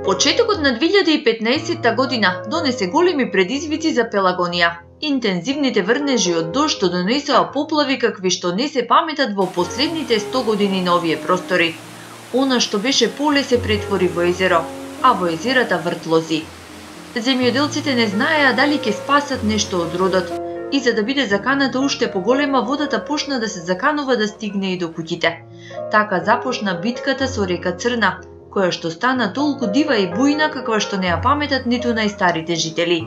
Почетокот на 2015 година донесе големи предизвици за Пелагонија. Интензивните врнежи од дожд донесоа поплави какви што не се паметат во последните 100 години на овие простори. Она што беше поле се претвори во езеро, а во езерата вртлози. Земјоделците не знаеа дали ќе спасат нешто од родот, и за да биде заканата уште поголема, водата почна да се заканува да стигне и до куќите. Така започна битката со река Црна, која што стана толку дива и бујна каква што не ја паметат ниту најстарите жители.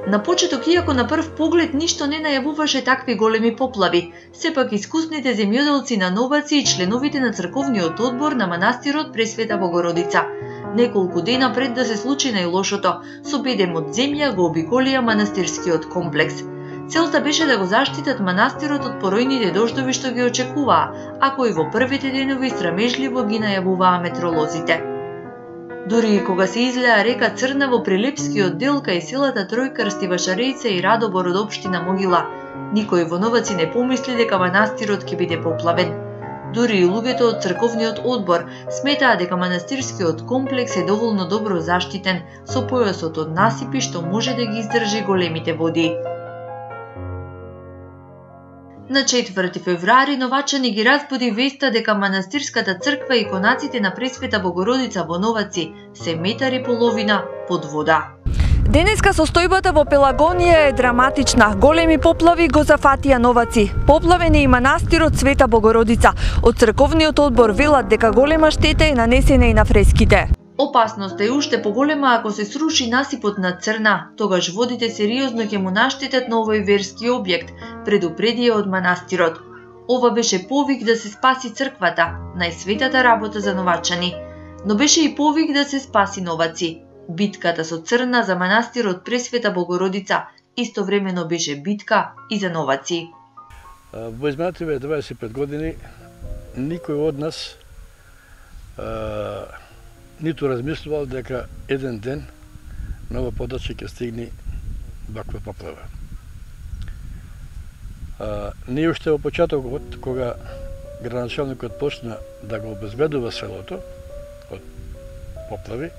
На почеток, иако на прв поглед ништо не најавуваше такви големи поплави, сепак искусните земјоделци на Новаци и членовите на црковниот одбор на манастирот Пресвета Богородица неколку дена пред да се случи најлошото, со бедем од земја го обиколија манастирскиот комплекс. Целта беше да го заштитат манастирот од поројните дождови што ги очекуваа, а кои во првите денови срамежливо ги најавуваа метролозите. Дури и кога се излеа река Црна во Прилепскиот дел кај селата Тројкрст, Вашарејце и Радобор од општина Могила, никој во Новаци не помисли дека манастирот ќе биде поплавен. Дури и луѓето од црковниот одбор сметаа дека манастирскиот комплекс е доволно добро заштитен со појасот од насипи што може да ги издржи големите води. На 4 февруари Новачани ги разбуди веста дека манастирската црква и конаците на Пресвета Богородица во Новаци се метари половина под вода. Денеска состојбата во Пелагонија е драматична. Големи поплави го зафатија Новаци. Поплавен е и манастирот Света Богородица. Од црковниот одбор велат дека голема штета е нанесена и на фреските. Опасноста е уште поголема ако се сруши насипот на Црна, тогаш водите сериозно ќе му наштетат на овој верски објект, предупредија од манастирот. Ова беше повик да се спаси црквата, најсветата работа за новачани, но беше и повик да се спаси Новаци. Битката со Црна за манастирот Пресвета Богородица истовремено беше битка и за Новаци. Во изминативе 25 години никој од нас ниту размислувал дека еден ден на ова подоцје ќе стигне ваква поплава. Ние уште во почетокот, кога градоначалникот почна да го обезбедува селото од поплави,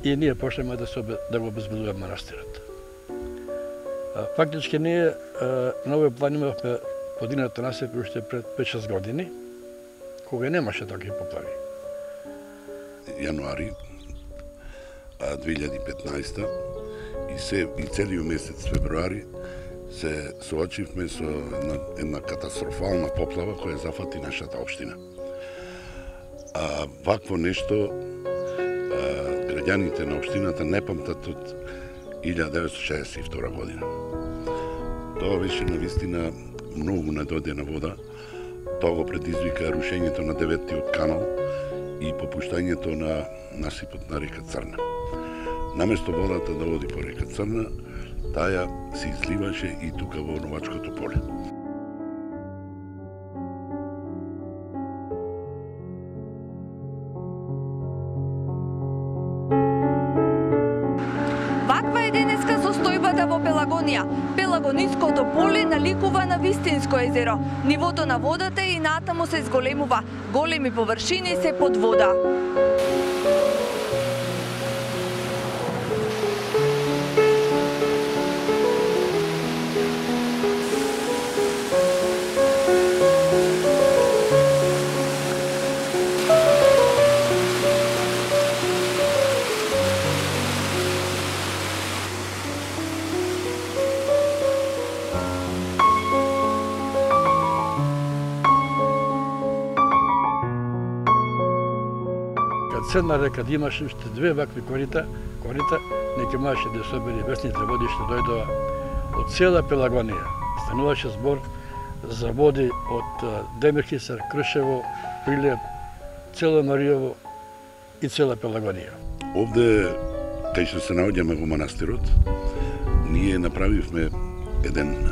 и ние почнеме да го обезбедуваме манастирот. Фактички ние на овој план имавме подигнато насипи уште пред 5-6 години, кога немаше такви поплави. Јануари 2015 и целиот месец февруари се соочивме со една катастрофална поплава која зафати нашата општина. Вакво нешто граѓаните на општината не памтат од 1962 година. Тоа беше навистина многу недодена вода. Тоа го предизвика рушењето на 9-тиот канал и попуштањето на насипот на река Црна. Наместо водата да оди по река Црна, таа се изливаше и тука во Новачкото поле. Ваква е денеска состојбата во Пелагонија. Пелагониското поле наликува на вистинско езеро. Нивото на водата и натаму се зголемува. Големи површини се под вода. Црна река да имаше уште две вакви корита, не ќе можеше да собери весните води што дојдоа од цела Пелагонија. Стануваше збор за води од Демирхисар, Кршево, Прилеп, цело Маријово и цела Пелагонија. Овде, кај што се наоѓаме во манастирот, ние направивме еден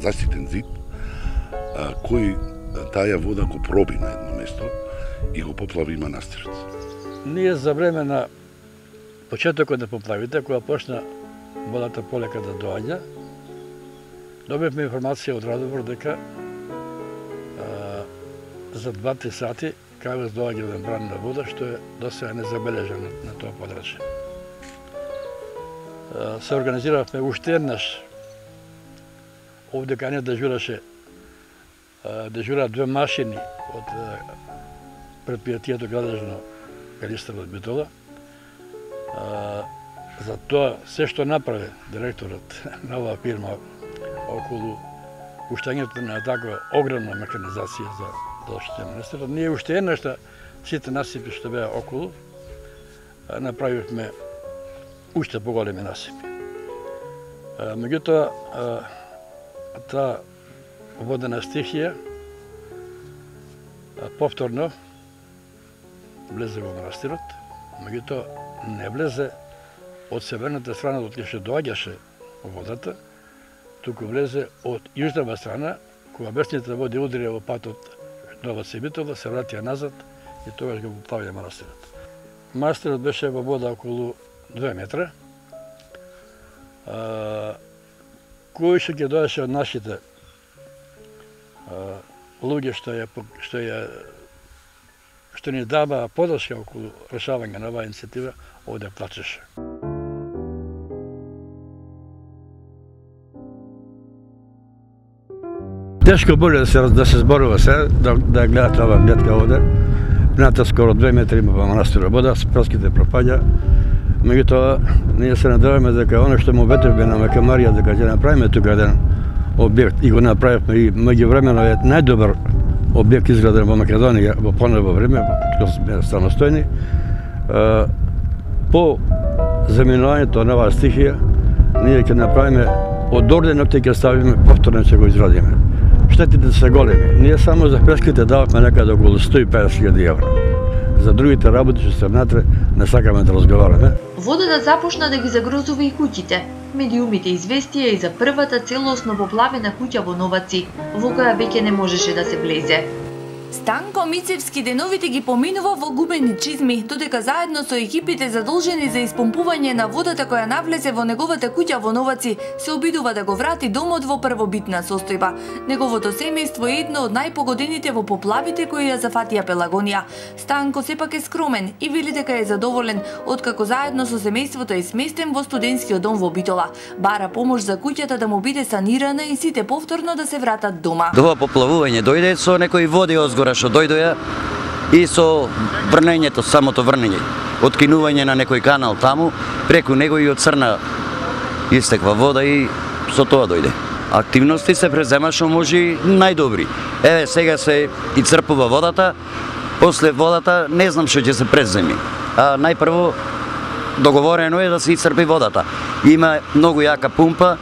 заштитен зид, кој таа вода го проби на едно место и го поплави манастирот. Ние за време на почетокот на поплавите, кога почна водата полека да доаѓа, добивме информација од Радобор дека за 2-3 сати кавез доаѓа еден бран на вода, што е досега незабележано на тоа подрачје. Се организиравме уште еднаш. Овде кај не дежура две машини од предпријатието градежно Каристер од Битола. За тоа се што направи директорот на оваа фирма околу пуштањето на таква огромна механизација за заштита на Нестерот, ние уште еднаш сите насипи што беа околу направивме уште поголеми насипи. Меѓутоа, таа водена стихија повторно влезе во манастирот, меѓутоа не влезе од северната страна од кај што доаѓаше водата, туку влезе од јужната страна, кога бесните води удрија во патот Новац и Битола, се вратија назад и тогаш го поплавија манастирот. Манастирот беше во вода околу 2 метра. Кој што ќе доеше од нашите луѓе што ни дава подршка околу решавање на оваа иницијатива, овде плачеше. Тешко боле да се зборува се, да гледате ова гледка овде. Пината скоро 2 метри има во манастирот вода, прските пропаѓа. Меѓутоа, ние се надеваме дека оно што му ветевме на Мака Марија, дека ќе направиме тука еден објект, и го направивме, и меѓувремено е најдобар објект изграден во Македонија во понево време, кога сме самостојни. По заминувањето на оваа стихија, ние ќе направиме од орденот ќе ставиме повторно ќе го изградиме. Штетите се големи. Ние само за преските дававме некаде околу 150.000 евра. За другите работи што се внатре не сакаме да разговараме. Водата започна да ги загрозува и куќите. Медиумите известија и за првата целосно поплавена куќа во Новаци, во која веќе не можеше да се влезе. Станко Мицевски деновите ги поминува во губени чизми, додека заедно со екипите задолжени за испомпување на водата која навлезе во неговата куќа во Новаци, се обидува да го врати домот во првобитна состојба. Неговото семејство е едно од најпогодените во поплавите кои ја зафатија Пелагонија. Станко сепак е скромен и вели дека е задоволен, откако заедно со семејството е сместен во студентскиот дом во Битола. Бара помош за куќата да му биде санирана и сите повторно да се вратат дома. Ова поплавување дојде со некои води озгора што дојдоја и со врнењето, самото врнење, откинување на некој канал таму, преку него и од црна истеква вода и со тоа дојде. Активности се презема што може најдобри. Еве сега се и црпува водата, после водата не знам што ќе се преземи. А најпрво договорено е да се исцрпи водата. Има многу јака пумпа,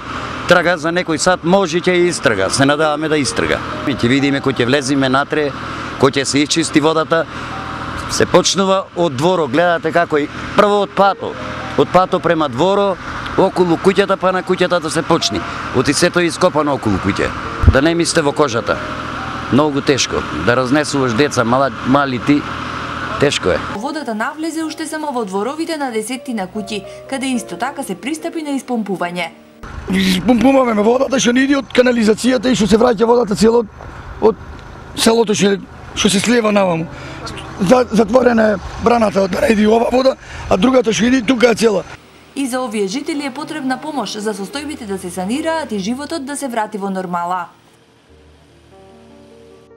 трага за некој сат, може ќе истрага, се надаваме да истрага. Ќе видиме кој ќе влезиме натре, кој ќе се исчисти водата. Се почнува од дворо, гледате како и прво од пато према дворо, околу куќата, па на куќата да се почни. Оти сето е ископано околу куќа. Да не мислите во кожата. Многу тешко. Да разнесуваш деца, мали ти, тешко е. Водата навлезе уште само во дворовите на десеттина куќи, каде исто така се пристапи на испомпување. Испомпуваме водата што не иде од канализацијата и што се враќа водата цело од селото што се слива наваму. Затворена е браната да не иде ова вода, а другата што иде тука е цела. И за овие жители е потребна помош за состојбите да се санираат и животот да се врати во нормала.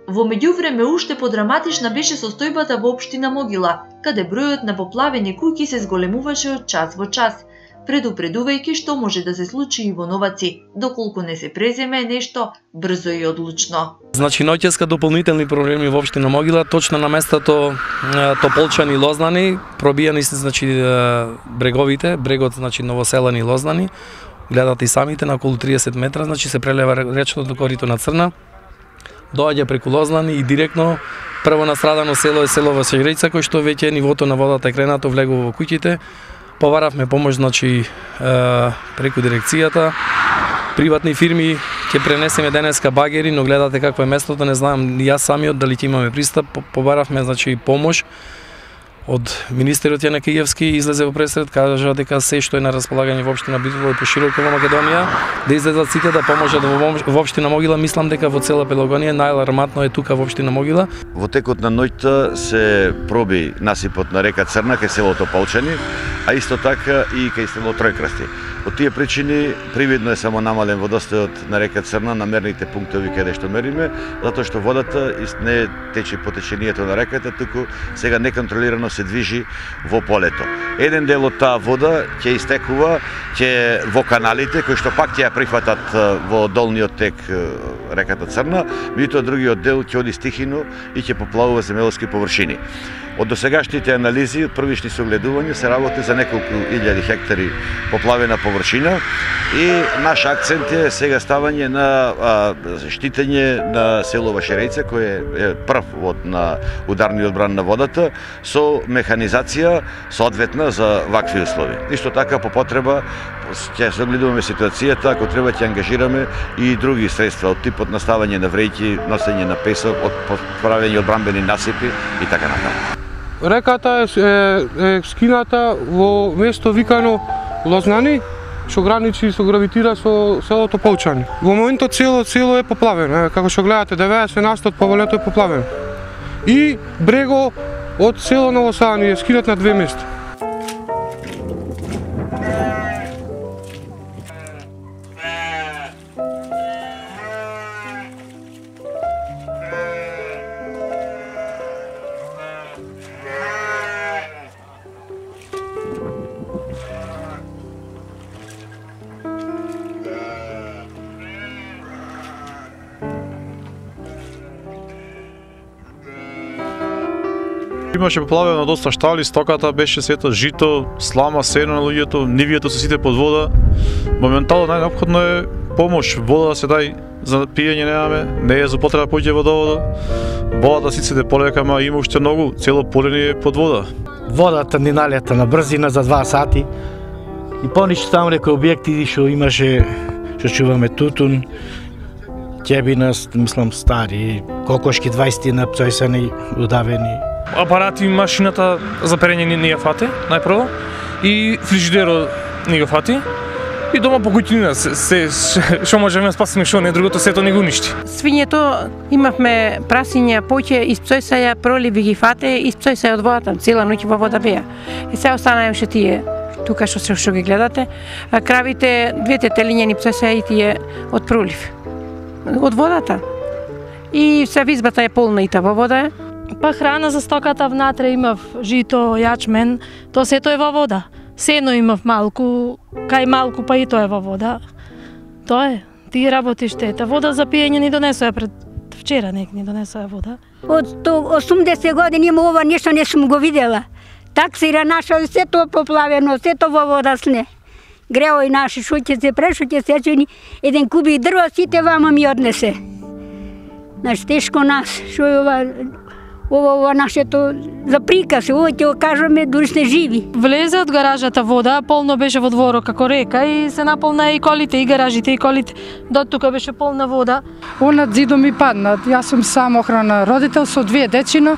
Во меѓувреме уште подраматична беше состојбата во општина Могила, каде бројот на поплавени куќи се зголемуваше од час во час, предупредувајќи што може да се случи и во Новаци, доколку не се преземе нешто брзо и одлучно. Значи ноќеска дополнителни проблеми во општина Могила, точно на местото Тополчани и Лознани, пробијани се значи бреговите, брегот значи Новоселани и Лознани. Гледате и самите на околу 30 метра, значи се прелева речното корито на Црна. Доаѓа преку Лознани и директно прво настрадано село е село Василица, кој што веќе нивото на водата е кренато, влегува во куќите. Побаравме помош значи преку дирекцијата, приватни фирми, ќе пренесеме денеска багери, но гледате какво е местото, не знам јас самиот дали ќе имаме пристап. Побаравме значи помош од министерот Јане Киевски излезе во пресред, кажа дека се што е на располагање во општина Битола и пошироко во Македонија, да излезат сите да поможат во општина Могила. Мислам дека во цела Пелагонија најалармантно е тука во општина Могила. Во текот на ноќта се проби насипот на река Црна кај селото Полчани, а исто така и кај село Тројкрасти. Од тие причини привидно е само намален водостојот на река Црна на мерните пунктови каде што мериме, затоа што водата не тече по течението на реката, туку сега неконтролирано се движи во полето. Еден дел од таа вода ќе истекува во каналите, кои што пак ќе ја прифатат во долниот тек реката Црна, меѓутоа другиот дел ќе оди стихино и ќе поплавува земјоделски површини. Од досегашните анализи, од првични согледувања се работи за неколку илјади хектари поплавена површина и наш акцент е сега ставање на штитење на село Вашерејце, кој е прв на ударни одбрана на водата, со механизација соодветна за вакви услови. Исто така по потреба ќе согледуваме ситуацијата, ако треба ќе ангажираме и други средства од типот на ставање на вреќи, носење на песок, правење одбранбени насипи и така натаму. Реката е скината во место викано Лознани, што граничи со гравитира со селото Полчани. Во моментот цело е поплавено, како што гледате 90% од поволето е поплавено. И брего од село Ново Сајани е скинат на две места. Имаше поплавено доста штали, стоката беше сето жито, слама, сено на луѓето, нивието се сите под вода. Моментално најнеопходно е помош, вода да се дај за пиење немаме, не е за потреба поќе водовода. Водата сите полека, ама има уште многу, цело поле ни е под вода. Водата ни налета на брзина за 2 сати и поништо таму некои објекти што имаше, што чуваме тутун, ќебина, мислам стари, кокошки 20 напцојсани, удавени. Апарати, машината за перење не ја фати, најпрво, и фрижидерот не го фати, и дома по куќнина, што можеме да спасиме, што не, другото сето не го уништи. Свињето имавме прасиња, поќе, испцојсаја, проливи ги фате, испцојсаја од водата, цела ноќ во вода беа. И се останаеше тие, тука што ги гледате, кравите, двете телиња ни пцојсаја и тие од пролив, од водата. И се визбата е полна и та во вода. Па храна за стоката внатре имав жито, јачмен, то сето е во вода. Сено имав малку, кај малку па и тоа е во вода. Тоа е, ти работиш тета. Вода за пиење ни донесоа пред вчера, ни донесоа вода. Од 80 години има ова нешто не сум го видела. Таксира наша, сето поплавено, сето во вода сне. Греој наши шуќе прешуќе сечени, еден кубик дрва сите вама ми однесе. Значи тешко нас, што е ова нашето за приказ, ова ќе го кажаме, дури сте живи. Влезе од гаражата вода, полно беше во дворот како река и се наполна и колите, и гаражите, и колите. До тука беше полна вода. Онад зидо ми падна. Јас сум сам охрана родител со 2 дечина.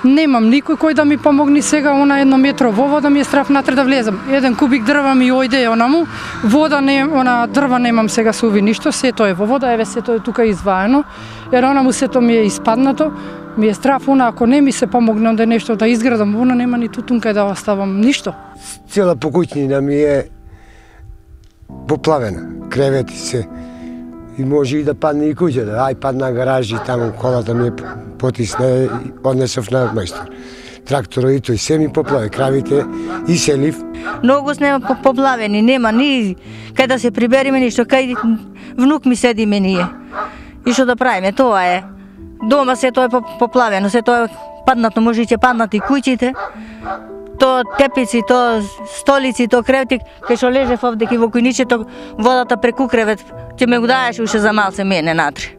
Немам никој кој да ми помогне сега, она 1 метро во вода ми е страф натре да влезам. Еден кубик дрва ми ојде онаму, вода не, она дрва немам сега суви ништо, сето е во вода, еве сето е тука изваено. Ер онаму сето ми е испаднато, ми е страф, она ако не ми се помогне онда нешто да изградам, она нема ни тутун кај да оставам ништо. Цела покуќнина ми е поплавена, кревети се. И може и да падне и куќата. Ај падна гаражи, таму колата ми е потисна и однесов на мајстор. Тракторот и тој се ми поплаве, кравите и селив. Многу сме поплавени, нема ни кај да се прибериме ништо, кај внук ми седиме ние. И што да правиме, тоа е. Дома се тоа е поплавено, се тоа е паднато, може и ќе паднат и куќите. То тепици, то столици, то кревети, кај што лежев овде во кујничето, водата преку кревет, ќе ме го даеше уште за малце мене натре.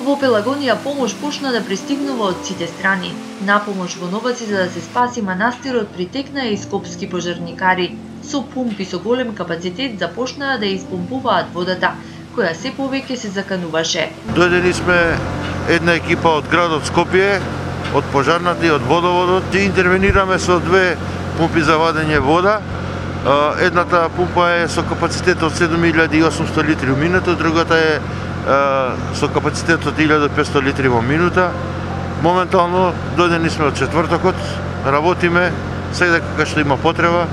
Во Пелагонија помош почна да пристигнува од сите страни. На помош во Новаци за да се спаси манастирот притекнаа и скопски пожарникари. Со пумпи со голем капацитет започнаа да испомпуваат водата, која се повеќе се закануваше. Дојдени сме една екипа од градот Скопје, од пожарната и од водоводот, и интервенираме со две пумпи за вадење вода. Едната пумпа е со капацитет од 7800 литри во минута, другата е со капацитет од 1500 литри во минута. Моментално дојдени сме од четвртокот, работиме сега кога што има потреба.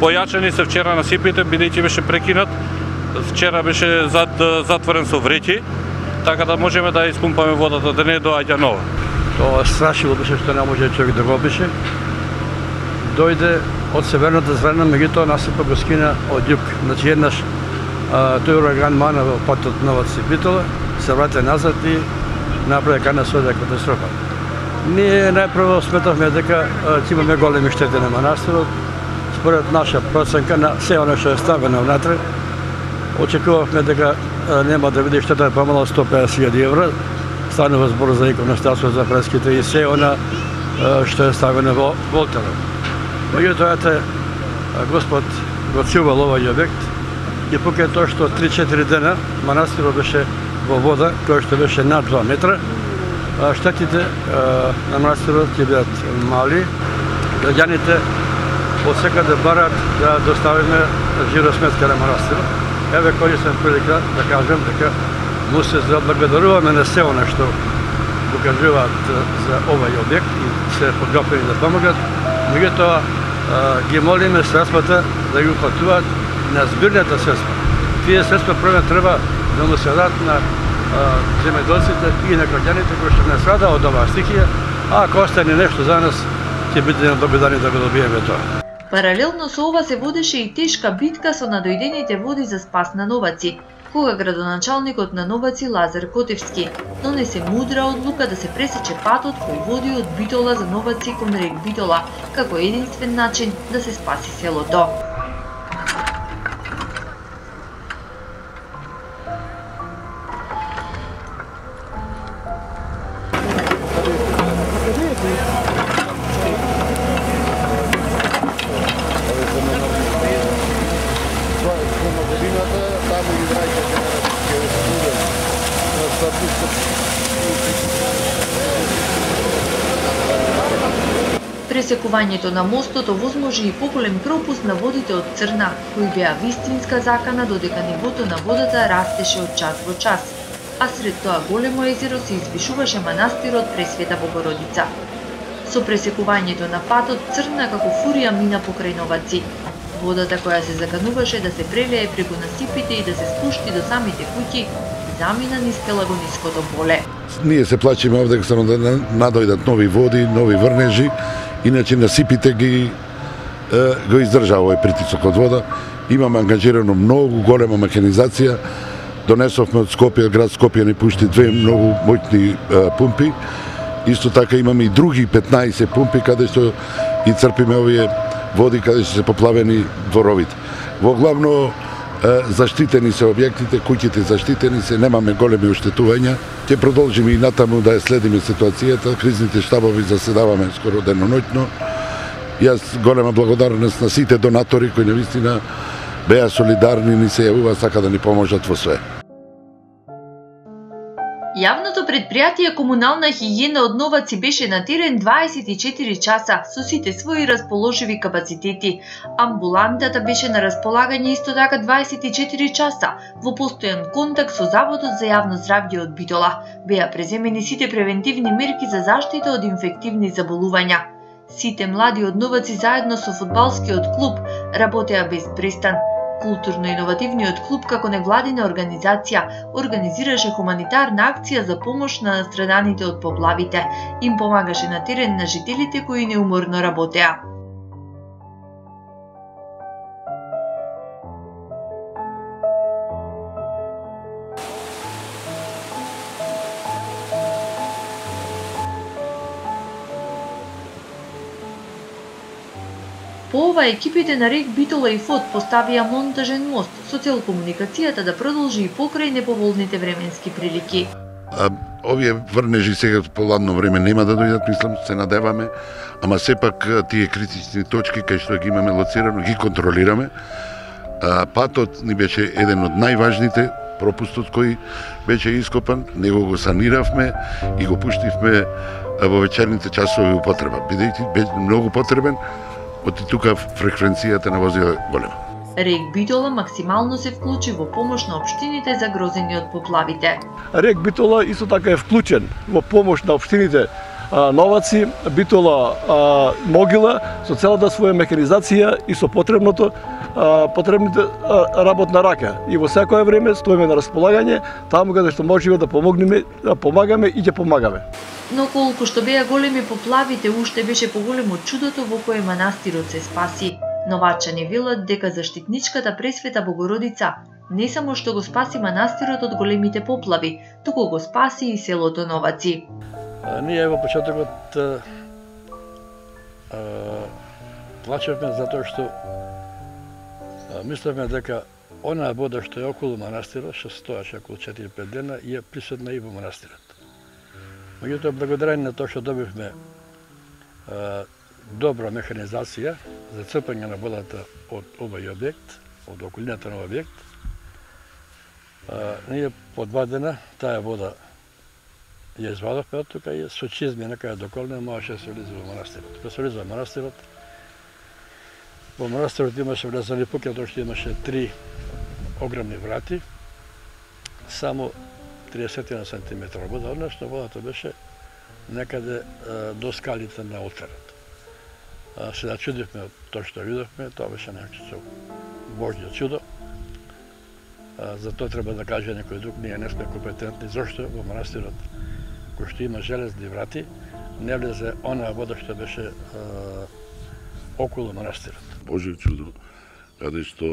Појачени се вчера насипите, бидејќи беше прекинат. Вчера беше затворен со вреќи, така да можеме да испумпаме водата, да не доаѓа нова. Тоа страшило беше што не може човек да го опише. Дојде од северната страна, меѓутоа насипа го скина од југ. Значи еднаш тој ураган мана во патот Новаци-Битола, се врати назад и направи кана сојда катастрофа. Ние најпрво сметавме дека ќе имаме големи штети на манастирот. Според наша проценка на се оно што е ставено внатре, очекувавме дека нема да биде штета помало од 150.000 евра. Станува збор за иконостасот, за фреските и се она што е ставено во волтерот. Меѓутоа, Господ го цјувал овој објект и покрај тоа што 3-4 дена манастирот беше во вода, која што беше над 2 метра, штетите на манастирот ќе бидат мали. Граѓаните од секаде барат да доставиме жиросметка на манастирот. Еве користам прилика да кажам дека му се заблагодаруваме на се она што го кажуваат за овој објект и се подготвени да помогат. Меѓутоа ги молиме средствата да ги уплатуваат на збирната средства. Тие средства прво треба да му се дадат на земјоделците и на граѓаните кои што не страда од оваа стихија, а ако остане нешто за нас, ќе бидеме благодарни да го добиеме тоа. Паралелно со ова се водеше и тешка битка со надојдените води за спас на Новаци, кога градоначалникот на Новаци Лазар Котевски донесе мудра одлука да се пресече патот кој води од Битола за Новаци кон рек Битола, како единствен начин да се спаси селото. Пресекувањето на мостот овозможи и поголем пропуст на водите од Црна, кои беа вистинска закана додека нивото на водата растеше од час во час, а сред тоа големо езеро се извишуваше манастирот Пресвета Богородица. Со пресекувањето на патот Црна како фурија мина покрај Новаци. Водата која се закануваше да се прелее преку насипите и да се спушти до самите куќи, замина низ Пелагониското поле. Ние се плачиме овде дека се надојдат нови води, нови врнежи, иначе насипите го издржа овој притисок од вода. Имаме ангажирано многу голема механизација. Донесовме од Скопје, град Скопје ни пушти две многу моќни пумпи. Исто така имаме и други 15 пумпи каде што и црпиме овие води каде што се поплавени дворовите. Во главно заштитени се објектите, куќите заштитени се, немаме големи оштетувања. Ќе продолжиме и натаму да ја следиме ситуацијата, кризните штабови заседаваме скоро деноноќно. Јас голема благодарност на сите донатори кои навистина беа солидарни, ни се јавува, сака да ни поможат во све. Јавното предпријатие Комунална хигиена од Новаци беше на терен 24 часа со сите своји расположиви капацитети. Амбулантата беше на располагање исто така 24 часа во постојан контакт со Заводот за јавно здравје од Битола. Беа преземени сите превентивни мерки за заштита од инфективни заболувања. Сите млади од Новаци заедно со фудбалскиот клуб работеа без престан. Културно-иновативниот клуб како невладина организација организираше хуманитарна акција за помош на настраданите од поплавите. Им помагаше на терен на жителите кои неуморно работеа. По ова екипите на рек Битола и ФОД поставија монтажен мост со цел комуникацијата да продолжи и покрај неповолните временски прилики. овие врнежи сега по ладно време нема да дојдат, мислам, се надеваме, ама сепак тие критични точки кај што ги имаме лоцирано, ги контролираме. Патот ни беше еден од најважните, пропустот кој беше ископан, него го саниравме и го пуштивме во вечерните часови употреба, бидејќи беше многу потребен, оти тука фреквенцијата на возила голема. РЕК Битола максимално се вклучи во помош на општините загрозени од поплавите. РЕК Битола исто така е вклучен во помош на општините Новаци, Битола, Могила со целата своја механизација и со потребните работна рака. И во секое време стоиме на располагање таму каде што можеме да помагаме и ќе помагаме. Но колку што беа големи поплавите, уште беше поголемо чудото во кое манастирот се спаси. Новачани велат дека заштитничката Пресвета Богородица не само што го спаси манастирот од големите поплави, туку го спаси и селото Новаци. Ние во почетокот плачевме затоа што мислевме дека онаа вода што е околу манастирот, што стоеше околу 4-5 дена, е присутна и во манастирот. Меѓутоа, благодарение на тоа што добивме добра механизација за црпање на водата од овој објект, од околината на објект, ние по 2 дена таа вода ја извадовме од тука и со чизмина кај доколна можеше да се влезе во манастирот. Кога се влезе во манастирот имаше влезани пуќе, тоа што имаше 3 огромни врати, само 30 сантиметра вода, односно водата беше некаде до скалите на олтарот. Се да чудивме од тоа што видовме, тоа беше некако Божјо чудо. За тоа треба да каже некој друг, ние не сме компетентни, зашто во манастирот кој што има железни врати, не влезе онаа вода што беше околу манастирот. Божјо чудо, каде што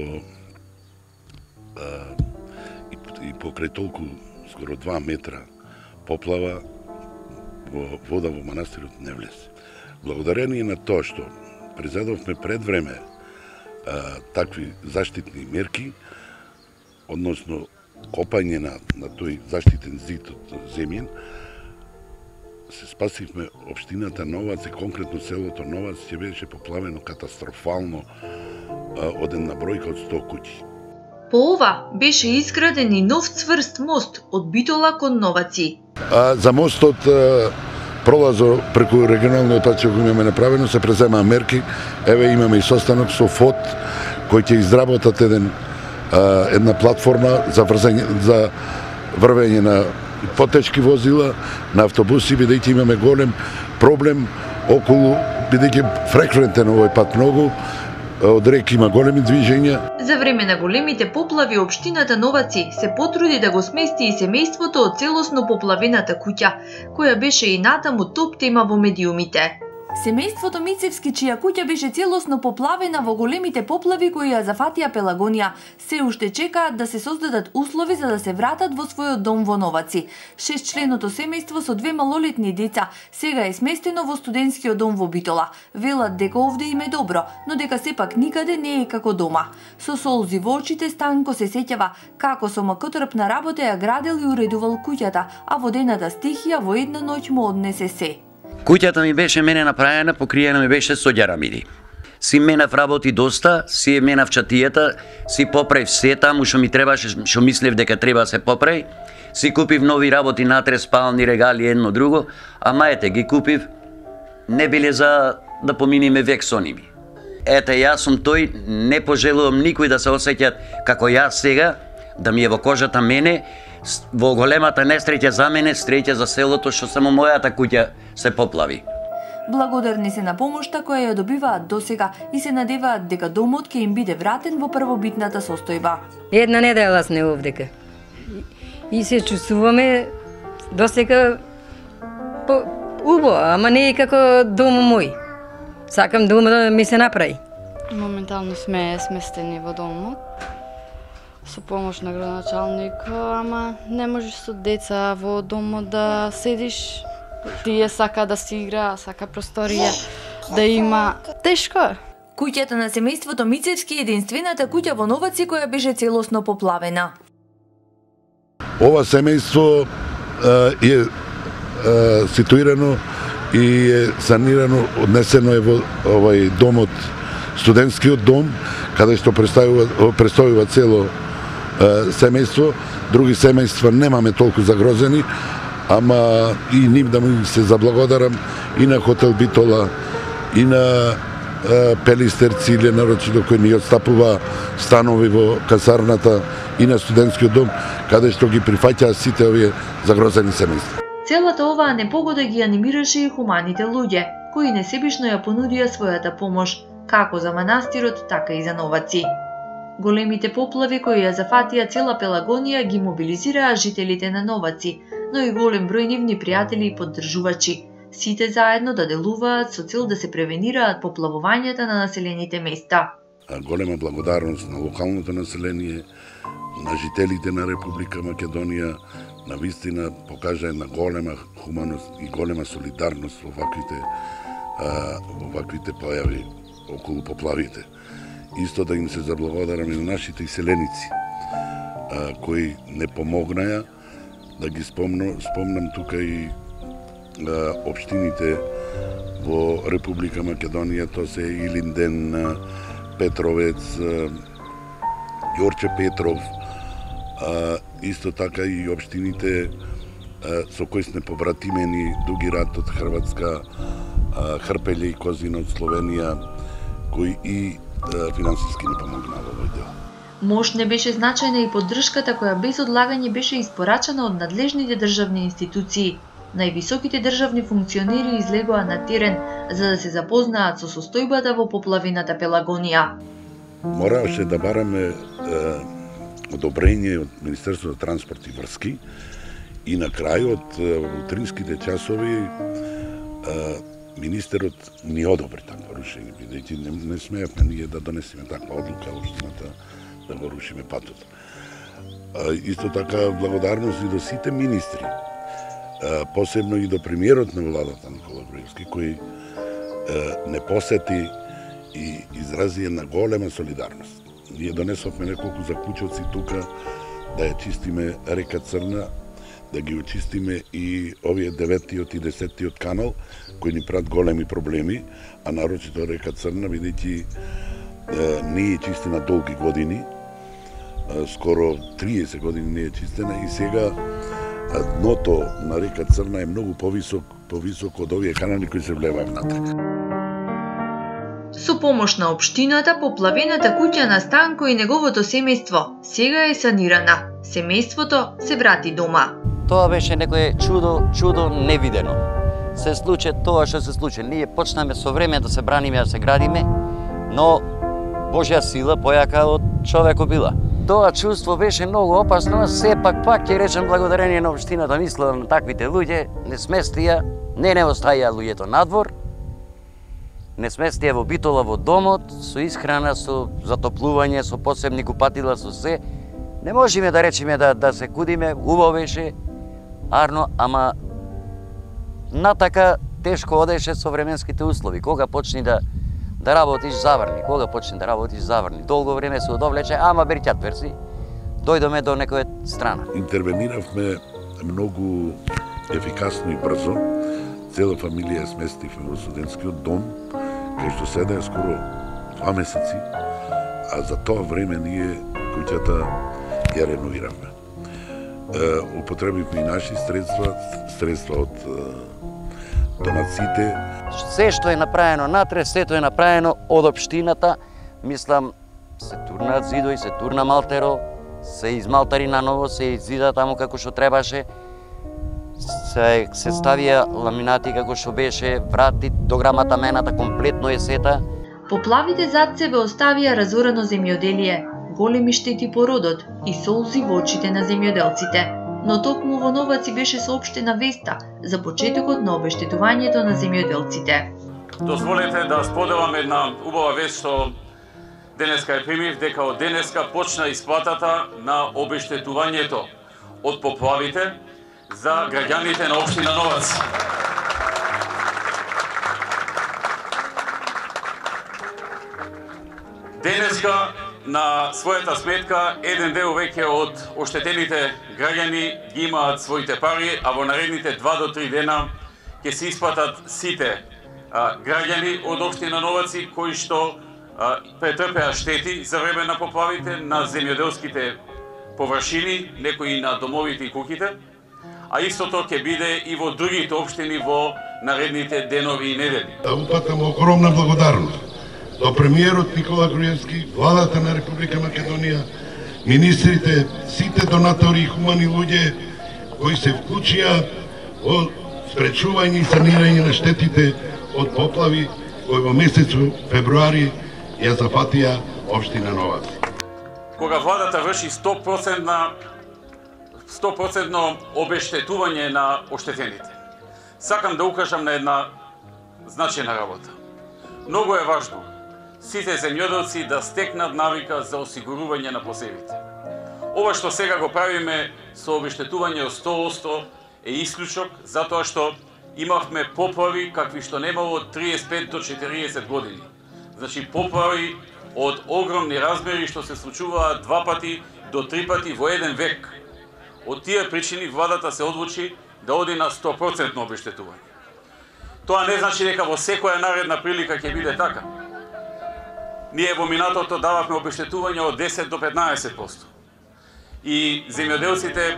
и покрај толку скоро 2 метра поплава, вода во манастирот не влезе. Благодарение на тоа што презедовме пред време такви заштитни мерки, односно копање на тој заштитен зид од земјен, се спасивме општината Новац и конкретно селото Новац ќе беше поплавено катастрофално од една бројка од 100 куќи. По ова беше изграден и нов цврст мост од Битола кон Новаци. За мостот пролазо преку регионалниот пат што го имаме направено се преземаа мерки. Еве имаме и состанок со ФОД кој ќе изработат една платформа за врвење на потечки возила, на автобуси, бидејќи имаме голем проблем околу, бидејќи фреквентен овој пат многу, од РЕК има големи движења. За време на големите поплави, општината Новаци се потруди да го смести и семејството од целосно поплавената куќа, која беше и натаму топ тема во медиумите. Семејството Мицевски, чија куќа беше целосно поплавена во големите поплави кои ја зафатија Пелагонија, се уште чекаат да се создадат услови за да се вратат во својот дом во Новаци. 6-членото семејство со 2 малолетни деца сега е сместено во студентскиот дом во Битола. Велат дека овде им е добро, но дека сепак никаде не е како дома. Со солзи во очите Станко се сеќава како со макотрпна работа ја градел и уредувал куќата, а водената стихија во една ноќ му однесе се. Куќата ми беше мене направена, покриена ми беше со ѓарамиди. Си менав работи доста, си менав чатијата, си поправив се таму што ми требаше, што мислев дека треба да се поправи. Си купив нови работи натре, спални регали, едно друго, ама ете ги купив, не биле за да поминиме век со ними. Ете, јас сум тој, не пожелувам никој да се осеќат како јас сега, да ми е во кожата мене, во големата несреќа за мене, среќа за селото што само мојата куќа се поплави. Благодарни се на помошта која ја добиваат досега и се надеваат дека домот ќе им биде вратен во првобитната состојба. Една недела сме овдека. И се чувствуваме досега убаво, ама не е како дом мој. Сакам дома да ми се направи. Моментално сме сместени во домот со помош на градоначалник, ама не можеш со деца во домот да седиш. Тие сака да си игра, сака просторија да има. Тешко е. Куќата на семејството Мицевски е единствената куќа во Новаци која беше целосно поплавена. Ова семејство е ситуирано и е санирано, однесено е во овај домот, студентскиот дом, каде што престојува цело семејство. Други семејства немаме толку загрозени, ама и ним да му се заблагодарам и на хотел Битола, и на Пелистер Циле, нарочито кој ни отстапува станови во касарната, и на студентскиот дом, каде што ги прифаќаа сите овие загрозени семејства. Целата оваа непогода ги анимираше и хуманите луѓе, кои несебишно ја понудија својата помош, како за манастирот, така и за Новаци. Големите поплави кои ја зафатија цела Пелагонија ги мобилизираа жителите на Новаци, но и голем број нивни пријатели и поддржувачи. Сите заедно да делуваат со цел да се превенираат поплавувањата на населените места. Голема благодарност на локалното население, на жителите на Република Македонија, на вистина покажа една голема хуманост и голема солидарност во ваквите појави околу поплавите. Исто да им се заблагодарам и на нашите иселеници, кои не помогнаја. Да ги спомнам тука и општините во Република Македонија, тоа се Илинден, Петровец, Јорче Петров, исто така и општините со кои сме побратимени, Дуги Рат од Хрватска, Хрпеле и Козина од Словенија, кои и финансиски не помогнаа во овој дел. Мош не беше значајна и поддршката која без одлагање беше испорачана од надлежните државни институции. Највисоките државни функционери излегоа на терен за да се запознаат со состојбата во поплавената Пелагонија. Мораше да бараме одобрење од Министерството за транспорт и врски и на крајот во утринските часови министерот ни одобри такво рушење, бидејќи не смеевме ние да донесеме таква одлука општината да го рушиме патот. Исто така благодарност и до сите министри, посебно и до премиерот на владата Никола Груевски, кој не посети и изрази една голема солидарност. Ние донесовме неколку заклучоци тука да ја чистиме река Црна, да ги очистиме и овие 9-тиот и 10-тиот канал, кои ни прават големи проблеми, а нарочито река Црна, бидејќи не е чистена долги години, скоро 30 години не е чистена и сега дното на река Црна е многу повисок од овие канали кои се влеваат внатре. Со помош на општината, поплавената куќа на Станко и неговото семејство сега е санирана. Семејството се врати дома. Тоа беше некое чудо невидено. Се случи тоа што се случи. Ние почнаме со време да се браниме, да се градиме, но Божја сила појака од човекот била. Тоа чувство беше многу опасно, сепак пак ќе речем благодарение на општината, мисла на таквите луѓе, не сместија, не оставија луѓето надвор, не сместија во Битола во домот, со исхрана, со затоплување, со посебни купатила, со се. Не можеме да речеме да се кудиме, убаво беше, арно, ама натака тешко одеше со временските услови. Кога почни да работиш заврни, долго време се одовлече, ама берќат верси, дојдоме до некоја страна. Интервениравме многу ефикасно и брзо. Цела фамилија сместивме во студентскиот дом, кај што седеа скоро 2 месеци, а за тоа време ние куќата ја реновиравме. Употребивме и наши средства од донациите. Се што е направено натре, сето е направено од општината. Мислам, се турнаат зидови, се турна малтеро, се измалтари наново, се иззида таму како што требаше. Се ставија ламинати како што беше, врати, дограмата мената комплетно е сета. Поплавите зад себе оставија разорено земјоделие, големи штети по родот и солзи во очите на земјоделците. Но токму во Новаци беше соопштена веста за почетокот на обештетувањето на земјоделците. Дозволете да споделам една убава вест што денеска ја примив, дека од денеска почна исплатата на обештетувањето од поплавите за граѓаните на општина Новац. Денеска на својата сметка еден дел веќе од оштетените граѓани ги имаат своите пари, а во наредните 2 до 3 дена ќе се исплатат сите граѓани од општина Новаци кои што претрпеа штети за време на поплавите на земјоделските површини, некои на домовите и куќите, а истото ќе биде и во другите општини во наредните денови и недели. Да упатам огромна благодарност до премиерот Никола Груевски, владата на Република Македонија, министрите, сите донатори и хумани луѓе кои се вклучија во спречување и санирање на штетите од поплави кои во месецу февруари ја зафатија општина Новаци. Кога владата врши 100% обештетување на оштетените, сакам да укажам на една значајна работа. Многу е важно сите земјоделци да стекнат навика за осигурување на посевите. Ова што сега го правиме со обештетување од 100% е исклучок, затоа што имавме поплави какви што немало од 35 до 40 години. Значи поплави од огромни размери што се случуваат 2 пати до 3 пати во еден век. Од тие причини владата се одлучи да оди на 100% обештетување. Тоа не значи дека во секоја наредна прилика ќе биде така. Ние во минатото дававме обештетување од 10 до 15%. И земјоделците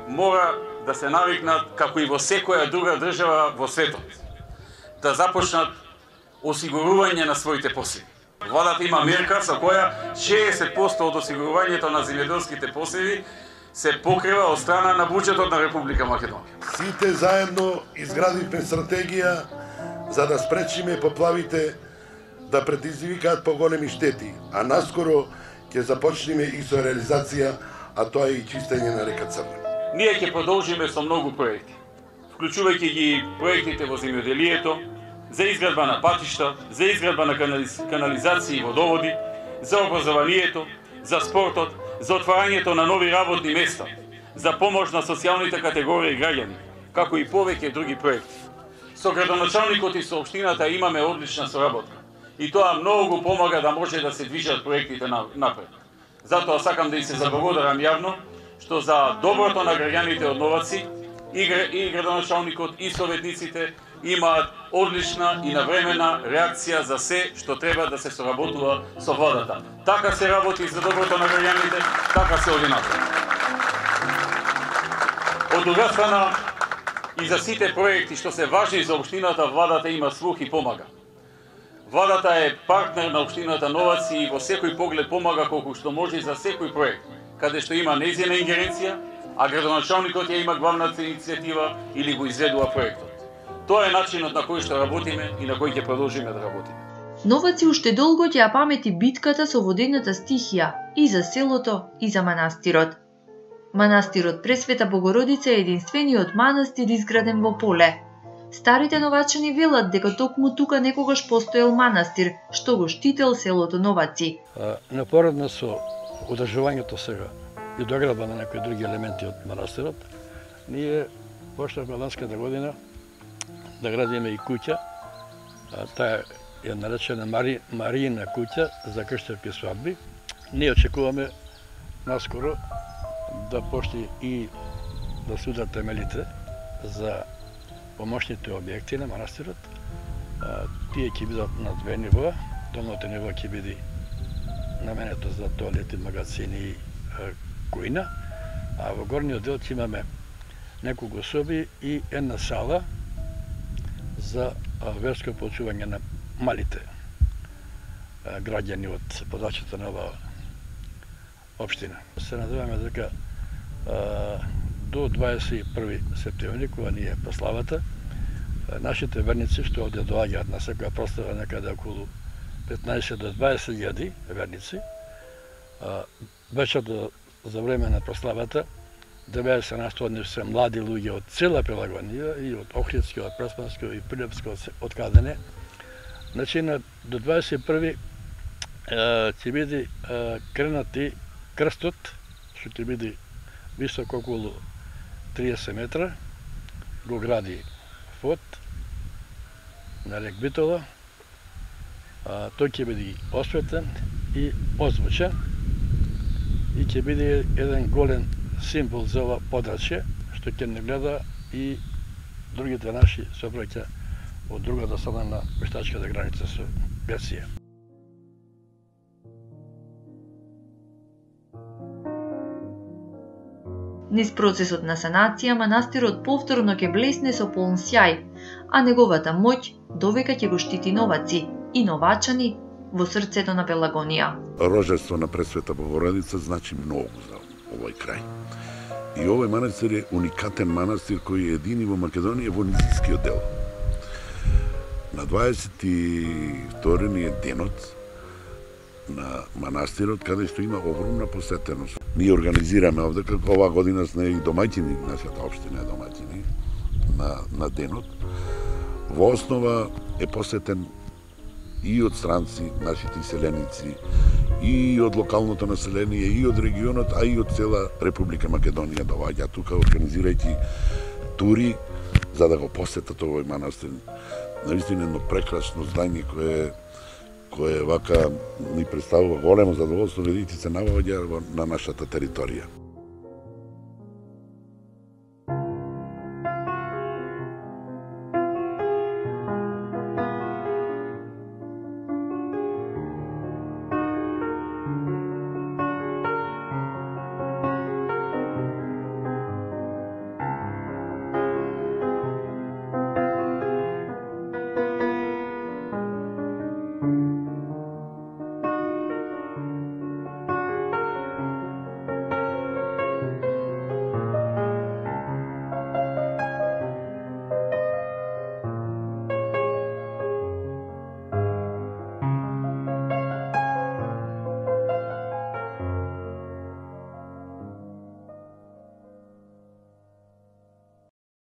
мора да се навикнат, како и во секоја друга држава во светот, да започнат осигурување на своите посеви. Владата има мерка со која 60% од осигурувањето на земјоделските посеви се покрива од страна на буџетот на Република Македонија. Сите заедно изградивме стратегија за да спречиме поплавите да предизвикаат поголеми штети, а наскоро ќе започнеме и со реализација, а тоа е и чистење на река Црна. Ние ќе продолжиме со многу проекти, вклучувајќи ги проектите во земјоделието, за изградба на патишта, за изградба на канализации и водоводи, за образованието, за спортот, за отварањето на нови работни места, за помош на социјалните категории граѓани, како и повеќе други проекти. Со градоначалникот и со општината имаме одлична соработка и тоа многу помага да може да се движат проектите напред. Затоа сакам да и се заблагодарам јавно што за доброто на граѓаните од Новаци и градоначалникот и советниците имаат одлична и навремена реакција за се што треба да се соработува со владата. Така се работи за доброто на граѓаните, така се оди напред. Од друга страна, и за сите проекти што се важни за општината, владата има слух и помага. Владата е партнер на општината Новаци и во секој поглед помага колку што може за секој проект, каде што има нејзина ингеренција, а градоначалникот ја има главната иницијатива или го изведува проектот. Тоа е начинот на кој што работиме и на кој ќе продолжиме да работиме. Новаци уште долго ќе ја памети битката со водената стихија и за селото и за манастирот. Манастирот Пресвета Богородица е единствениот манастир изграден во поле. Старите новачани велат дека токму тука некогаш постоел манастир, што го штител селото Новаци. Напоредно со одржувањето сега и доградба на некои други елементи од манастирот, ние почнавме ланската година да градиме и куќа. Таа е наречена Мариина куќа за крштевки свадби. Ние очекуваме наскоро да почне и да се ударат темелите за помошните објекти на манастирот. Тие ќе бидат на 2 нивоа. Долното ниво ќе биде наменето за тоалети, магазини и кујна, а во горниот дел ќе имаме неколку соби и една сала за верско почување на малите граѓани од подачата на оваа општина. Се надеваме дека до 21 септември, кога ни е прославата, нашите верници што овде доаѓаат на секоја прослава некаде околу 15 до 20.000 верници, вече за време на прославата 90% од нив се млади луѓе од цела Пелагонија и од Охридско, од Преспанско и Прилепско, од каде не. Значи, до 21 ќе биде кренати крстот, што ќе биде висок околу 30 метра, го гради ФОД на рек Битола. Тој ќе биде осветен и озвучен и ќе биде еден голем символ за ова подрачје, што ќе не гледа и другите наши собраќа од другата страна на пештачката граница со Грција. Низ процесот на санација, манастирот повторно ќе блесне со полн сјај, а неговата моќ довека ќе го штити новаци и новачани во срцето на Пелагонија. Рожество на Пресвета Богородица значи многу за овој крај. И овој манастир е уникатен манастир кој е едини во Македонија во низискиот дел. На 22 ни е денот на манастирот, каде што има огромна посетеност. Ние организираме овде, како оваа година сме и домаќини, нашата општина е домаќини на денот. Во основа е посетен и од странци, нашите иселеници, и од локалното население, и од регионот, а и од цела Република Македонија доаѓа тука, организирајќи тури за да го посетат овој манастир. Наистина едно прекрасно здање кое вака ни представува големо задоволство, бидејќи се наоѓа на нашата територија.